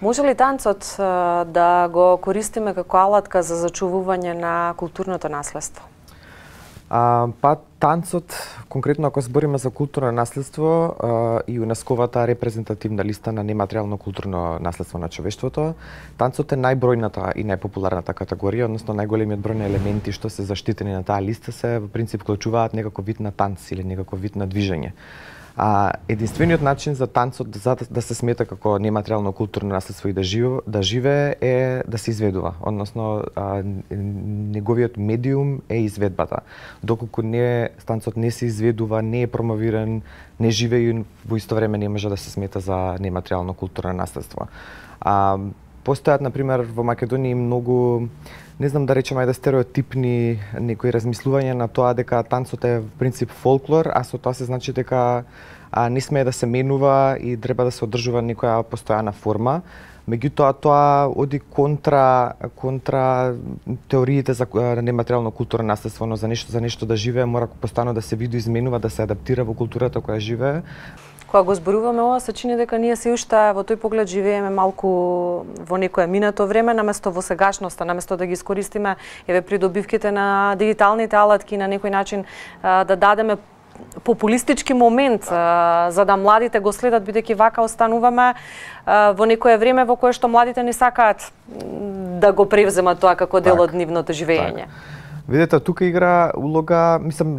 Може ли танцот да го користиме како алатка за зачувување на културното наследство? Танцот, конкретно ако збориме за културно наследство и ЮНЕСКО-вата репрезентативна листа на нематеријално културно наследство на човештвото, танцот е најбројната и најпопуларната категорија, односно најголемиот број на елементи што се заштитени на таа листа се во принцип вклучуваат некаков вид на танц или некаков вид на движење. Единствениот начин за танцот да се смета како нематеријално културно наследство и да живее е да се изведува, односно неговиот медиум е изведбата. Доколку танцот не се изведува, не е промовиран, не живее, во исто време не може да се смета за нематеријално културно наследство. Постојат, например, во Македонија многу, не знам да речем ајде стереотипни некои размислувања на тоа дека танцот е в принцип фолклор, а со тоа се значи дека не смее да се менува и треба да се одржува некоја постојана форма. Меѓутоа тоа оди контра теориите за нематеријално културно наследство, но за нешто да живее мора постојано да се видоизменува, да се адаптира во културата која живее. Кога го зборуваме ова, се чини дека ние се уште во тој поглед живееме малку во некое минато време, наместо во сегашноста, наместо да ги искористиме придобивките на дигиталните алатки на некој начин да дадеме популистички момент за да младите го следат, бидејќи вака остануваме во некое време во кое што младите не сакаат да го превземат тоа како дел од нивното живење. Видете, тука игра улога, мислам,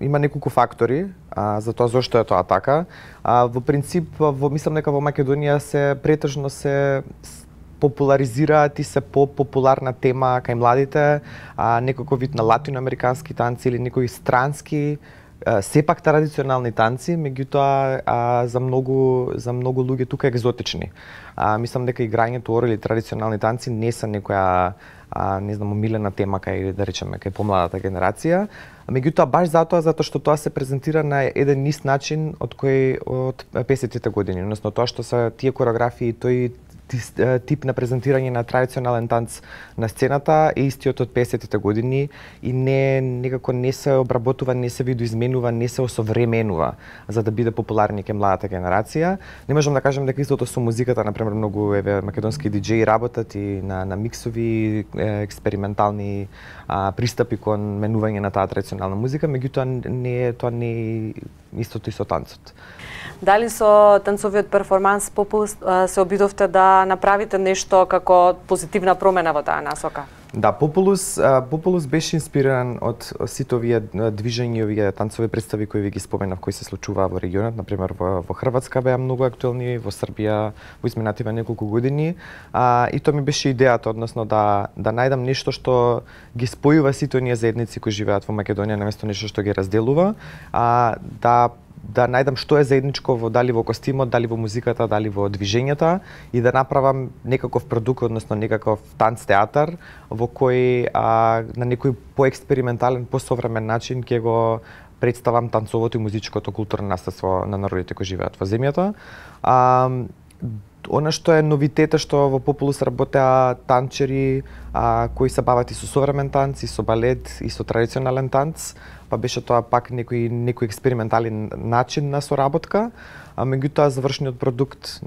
има неколку фактори за тоа зошто е тоа така. Во принцип, мислам дека во Македонија се претежно се популаризираат и се популарна тема кај младите, некој вид на латиноамерикански танци или некои странски, сепак традиционални танци, меѓутоа за многу луѓе тука екзотични. Мислам дека играњето ора или традиционални танци не се некоја не знам, омилена тема кај, да речеме, кај помладата генерација. Меѓутоа, баш затоа што тоа се презентира на еден низ начин од 50-тите години. Односно, тоа што се тие кореографии, тој тип на презентирање на традиционален танц на сцената е истиот од 50-тите години и некако не се обработува, не се видоизменува, не се осовременува за да биде популарни кај младата генерација. Не можам да кажам дека истото со музиката, например, многу македонски диџеи работат и на миксови, експериментални пристапи кон менување на таа традиционална музика, меѓутоа тоа не е истото и со танцот. Дали со танцовиот перформанс Популус се обидовте да направите нешто како позитивна промена во таа насока? Да, Популус беше инспириран од сите овие движења, овие танцови представи кои ви ги споменав, кои се случуваа во регионот, например во Хрватска беа многу актуелни, во Србија во изминативе неколку години, и тоа ми беше идејата, односно да најдам нешто што ги спојува сите оние заедници кои живеат во Македонија, наместо нешто што ги разделува, да најдам што е заедничко дали во костимот, дали во музиката, дали во движењата и да направам некаков продукт, односно некаков танц театар во кој на некој поекспериментален, посовремен начин ќе го представам танцовото и музичкото културно наследство на народите кои живеат во земјата. Она што е новитета што во Популус работеа танчери кои се бават и со современ танц, и со балет, и со традиционален танц, па беше тоа пак некој експериментален начин на соработка, меѓутоа завршниот продукт,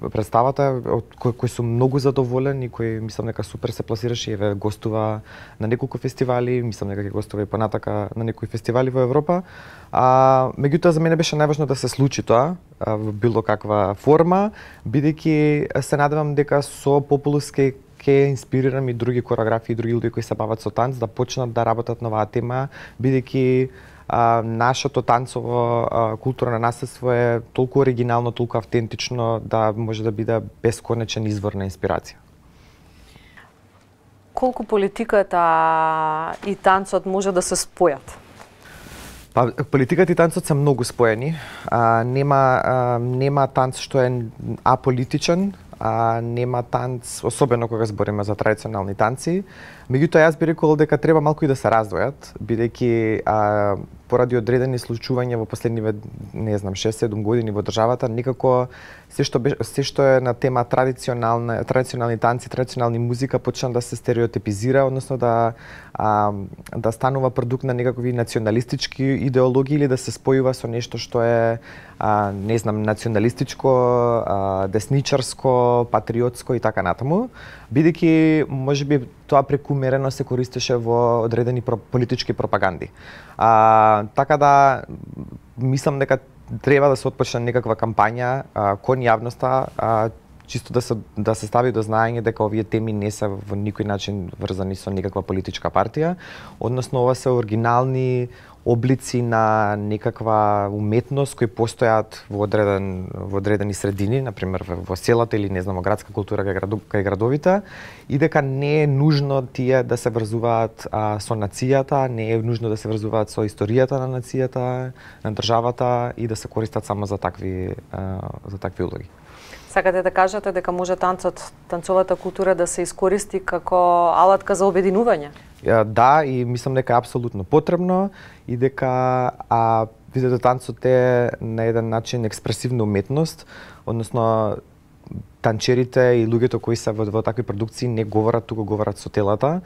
представата од кој сум многу задоволен и кој мислам дека супер се пласираше и гостува на неколку фестивали, мислам дека ќе гостува и понатака на некои фестивали во Европа. Меѓутоа за мене беше најважно да се случи тоа во било каква форма, бидејќи се надевам дека со Популус ќе инспирирам и други коreografии, и други луѓе кои се бават со танц да почнат да работат на оваа тема, бидејќи нашето танцово културно наследство е толку оригинално, толку автентично да може да биде бесконечен извор на инспирација. Колку политиката и танцот може да се спојат? Политиката и танцот се многу споени. Нема танц што е аполитичен, нема танц, особено кога збориме за традиционални танци. Меѓутоа, јас би рекол дека треба малку и да се раздвојат, бидејќи поради одредени случувања во последниве, не знам, 6-7 години во државата, некако се што е на тема традиционални танци, традиционални музика почна да се стереотипизира, односно да станува продукт на некакви националистички идеологии или да се спојува со нешто што е не знам, националистичко, десничарско, патриотско и така натаму, бидејќи можеби тоа прекумерено се користеше во одредени политички пропаганди. Така да мислам дека треба да се отпочне некаква кампања кон јавноста, чисто да се стави до знаење дека овие теми не се во никој начин врзани со некаква политичка партија, односно ова се оригинални облици на некаква уметност кои постојат во одредени средини, например во селата или не знам, градска култура кај градовите, и дека не е нужно тие да се врзуваат со нацијата, не е нужно да се врзуваат со историјата на нацијата, на државата и да се користат само за такви улоги. Сакате да кажете дека може танцовата култура да се искористи како алатка за обединување? Да, и мислам дека е апсолутно потребно и дека видите танцот е на еден начин експресивна уметност, односно танчерите и луѓето кои се во такви продукции не говорат, туку говорат со телата.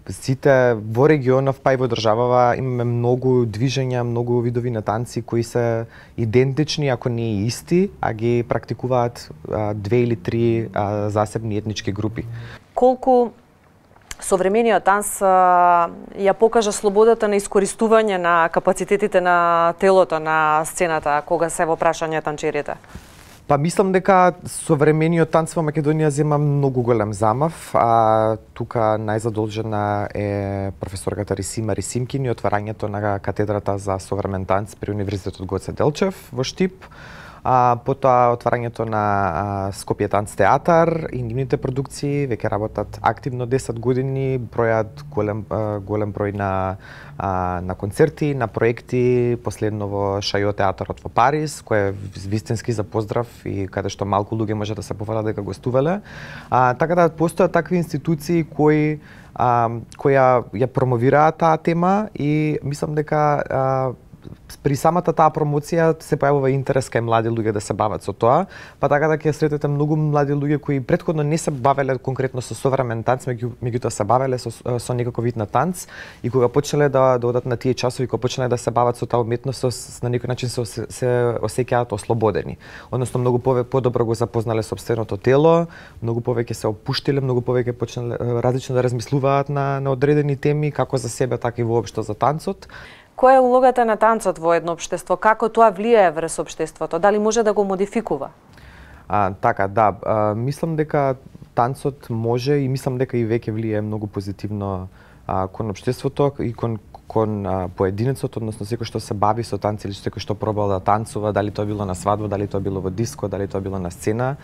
Сите во регионов, па и во државава имаме многу движења, многу видови на танци кои се идентични, ако не и исти, а ги практикуваат 2 или 3 засебни етнички групи. Колку современиот танц ја покажа слободата на искористување на капацитетите на телото на сцената кога се во прашање танчерите? Па мислам дека современиот танц во Македонија зема многу голем замав. Тука најзадолжена е професорката Рисима Рисимкин и отварањето на катедрата за современ танц при Универзитетот Гоце Делчев во Штип. Потоа отварањето на Скопје танц театар и нивните продукции веќе работат активно 10 години, бројат голем број на концерти, на проекти, последно во Шајо театарот во Париз, кој е вистински за поздрав и каде што малку луѓе може да се пофалат дека гостувале. Така да постојат такви институции кои ја промовираат таа тема и мислам дека при самата таа промоција се појавува интерес кај млади луѓе да се бават со тоа, па така да ќе сретете многу млади луѓе кои претходно не се бавеле конкретно со современ танц, меѓутоа се бавеле со некој вид на танц и кога почнале да одат на тие часови, кога почнале да се бават со таа уметност, на некој начин се осеќаат ослободени. Односно многу подобро го запознале сопственото тело, многу повеќе се опуштиле, многу повеќе почнале различно да размислуваат на одредени теми, како за себе, така и воопшто за танцот. Која е улогата на танцот во едно општество? Како тоа влијае врз општеството? Дали може да го модификува? Така, да. Мислам дека танцот може и мислам дека и веќе влијае многу позитивно кон општеството и кон поединецот, односно секој што се бави со танци или секој што пробал да танцува, дали тоа било на свадба, дали тоа било во диско, дали тоа било на сцена,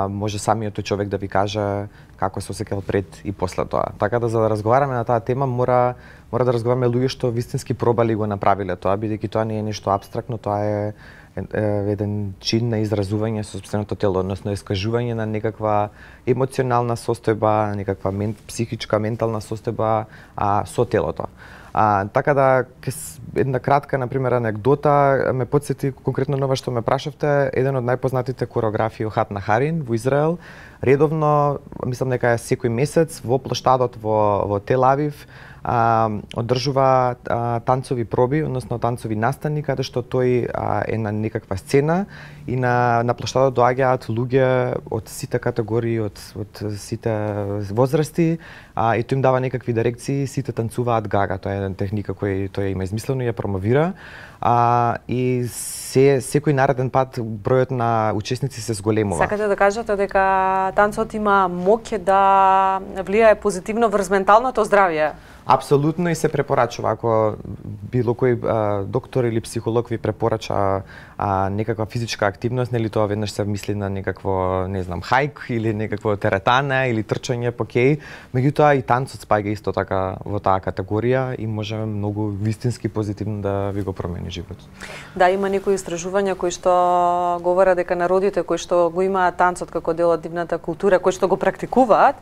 може самиот тој човек да ви каже како се осеќал пред и после тоа. Така да за да разговараме на таа тема мора да разговараме луѓе што вистински пробали и го направиле тоа, бидејќи тоа не е нешто апстрактно, тоа е еден чин на изразување со сопственото тело, односно искажување на некаква емоционална состојба, некаква психичка, ментална состојба со телото. Така да, една кратка, например, анекдота ме потсети конкретно на ова што ме прашавте, еден од најпознатите кореографи Охат Нахарин во Израел, редовно, мислам дека е секој месец во плоштадот во Тел Авив, одржува танцови проби, односно танцови настани, каде што тој е на некаква сцена и на плоштадот доаѓаат луѓе од сите категории, од сите возрасти, и тој им дава некакви дирекции, сите танцуваат гага, тоа е една техника која тој има измислено и ја промовира. И секој нареден пат бројот на учесници се зголемува. Сакате да кажете дека танцот има моќ да влијае позитивно врз менталното здравје? Апсолутно, и се препорачува. Ако било кој доктор или психолог ви препорача некаква физичка активност, нели тоа веднаш се мисли на некакво, не знам, хајк или некакво теретане или трчање по кеј, меѓутоа и танцот спаѓа исто така во таа категорија и може многу вистински позитивно да ви го промени животот. Да, има некои истражувања кои што говорат дека народите кои што го имаат танцот како дел од нивната култура, кои што го практикуваат,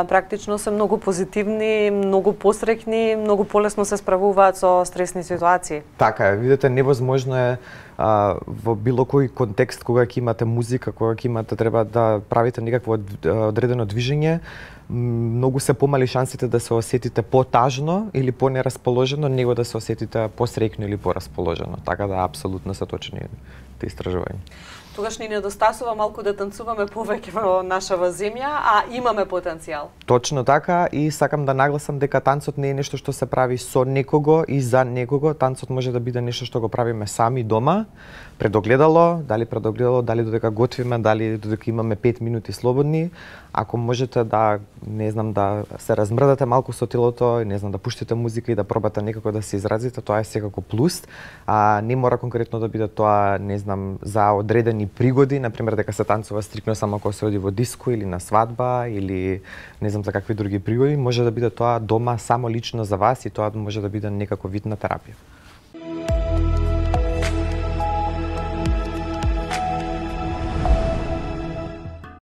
практично се многу позитивни, многу посрекни, многу полесно се справуваат со стресни ситуации. Така е, видите, невозможно е во било кој контекст кога ќе имате музика, кога ќе имате треба да правите некакво одредено движење, многу се помали шансите да се осетите потажно или понерасположено, него да се осетите посрекно или порасположено. Така да апсолутно се точни тие истражувања. Тогаш ни недостасува малку да танцуваме повеќе во нашава земја, а имаме потенцијал. Точно така, и сакам да нагласам дека танцот не е нешто што се прави со некого и за некого. Танцот може да биде нешто што го правиме сами дома, пред огледало, дали додека готвиме, дали додека имаме 5 минути слободни. Ако можете да, не знам, да се размрдате малку со телото, не знам, да пуштите музика и да пробате некако да се изразите, тоа е секако плюс. Не мора конкретно да биде тоа, не знам, за одредени пригоди, например дека се танцува стрикно само кога се оди во диско или на свадба или не знам за какви други пригоди, може да биде тоа дома само лично за вас и тоа може да биде некако вид на терапија.